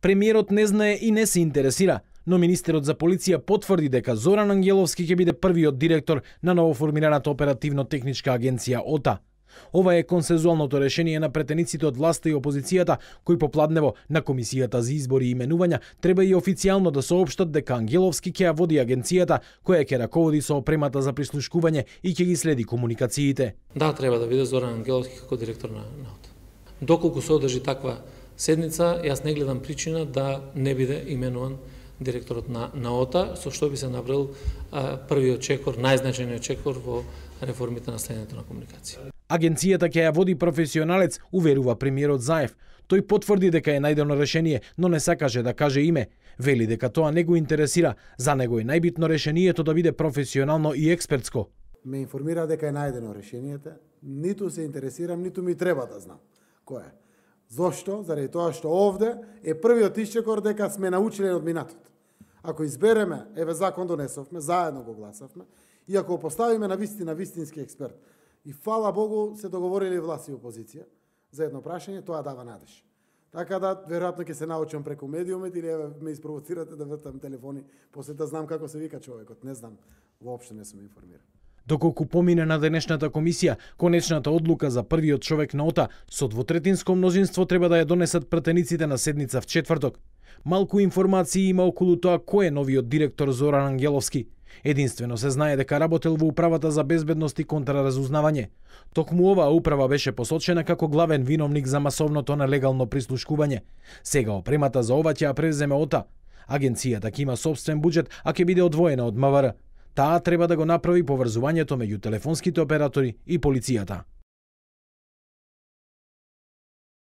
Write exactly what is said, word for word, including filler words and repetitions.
Премиерот не знае и не се интересира, но министерот за полиција потврди дека Зоран Ангеловски ќе биде првиот директор на новоформираната оперативно-техничка агенција ОТА. Ова е консензуалното решение на претениците од власта и опозицијата, кои попладнево на Комисијата за избори и именувања треба и официјално да соопштат дека Ангеловски ќе ја води агенцијата, која ќе раководи со опремата за прислушкување и ќе ги следи комуникациите. Да, треба да биде Зоран Ангеловски како директор на ОТА. Доколку се одржи таква седница, јас не гледам причина да не биде именуван директорот на, на ОТА, со што би се направил а, првиот чекор, најзначајниот чекор во реформите на следењето на комуникација. Агенцијата ќе ја води професионалец, уверува премиерот Заев. Тој потврди дека е најдено решение, но не сакаше да каже име. Вели дека тоа не го интересира, за него е најбитно решението да биде професионално и експертско. Ме информира дека е најдено решението, ниту се интересирам, ниту ми треба да знам кој е. Зошто? Заради тоа што овде е првиот исчекор дека сме научиле од минатот. Ако избереме, еве закон донесовме, заедно го гласавме, и ако го поставиме на вистина вистински експерт, и фала Богу се договорили власт и опозиција за едно прашање, тоа дава надеж. Така да, веројатно ќе се научам преку медиумите или еве ме испровоцирате да вртам телефони, после да знам како се вика човекот, не знам, воопшто не сум информиран. Доколку помине на денешната комисија, конечната одлука за првиот човек на ОТА со двотретинско мнозинство треба да ја донесат претениците на седница в четврток. Малку информации има околу тоа кој е новиот директор Зоран Ангеловски. Единствено се знае дека работел во управата за безбедност и контраразузнавање. Токму оваа управа беше посочена како главен виновник за масовното нелегално прислушкување. Сега опремата за ова ќе ја превземе ОТА. Агенцијата ќе има сопствен буџет, а ќе биде одвоена од МВР. Таа треба да го направи поврзувањето меѓу телефонските оператори и полицијата.